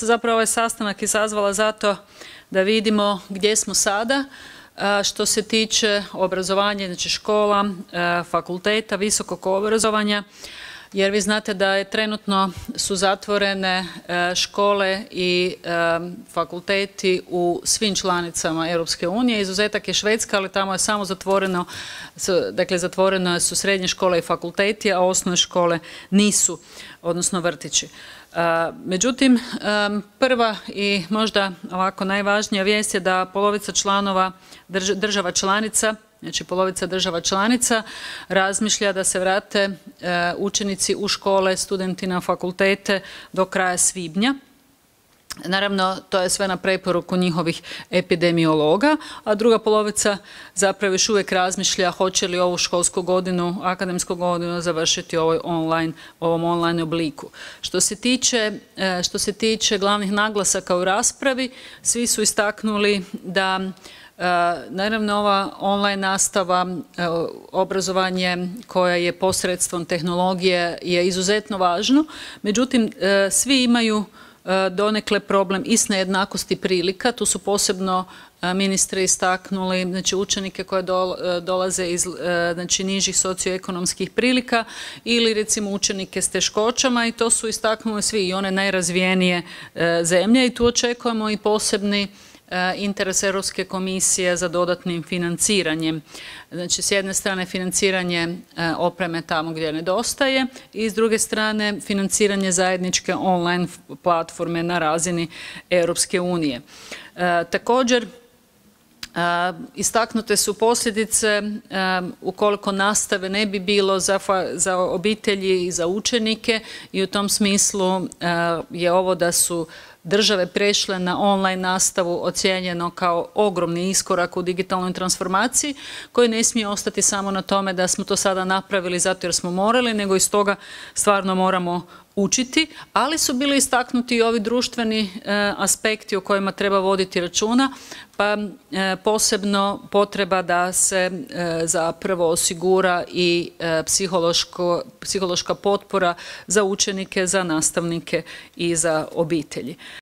sam zapravo ovaj sastanak izazvala zato da vidimo gdje smo sada što se tiče obrazovanja, znači škola, fakulteta, visokog obrazovanja, jer vi znate da je trenutno su zatvorene škole i fakulteti u svim članicama Europske unije. Izuzetak je Švedska, ali tamo je samo zatvoreno, dakle zatvoreno su srednje škole i fakulteti, a osnovne škole nisu, odnosno vrtići. Međutim, prva i možda ovako najvažnija vijest je da polovica članova država članica, znači polovica država članica razmišlja da se vrate učenici u škole, studenti na fakultete do kraja svibnja. Naravno, to je sve na preporuku njihovih epidemiologa, a druga polovica zapravo još uvijek razmišlja hoće li ovu školsku godinu, akademsku godinu završiti u ovom online obliku. Što se tiče glavnih naglasaka u raspravi, svi su istaknuli da naravno ova online nastava, obrazovanje koje je posredstvom tehnologije je izuzetno važno, međutim svi imaju donekle problem i s nejednakosti prilika. Tu su posebno ministri istaknuli, znači učenike koje dolaze iz znači, nižih socioekonomskih prilika ili recimo učenike s teškoćama, i to su istaknuli svi, i one najrazvijenije zemlje, i tu očekujemo i posebni interes Europske komisije za dodatnim financiranjem. Znači, s jedne strane financiranje opreme tamo gdje nedostaje i s druge strane financiranje zajedničke online platforme na razini Europske unije. Također, istaknute su posljedice ukoliko nastave ne bi bilo za obitelji i za učenike, i u tom smislu je ovo da su države prešle na online nastavu ocijenjeno kao ogromni iskorak u digitalnoj transformaciji, koji ne smije ostati samo na tome da smo to sada napravili zato jer smo morali, nego iz toga stvarno moramo učiti, ali su bili istaknuti i ovi društveni aspekti o kojima treba voditi računa, pa posebno potreba da se zapravo osigura i psihološka potpora za učenike, za nastavnike i za obitelji.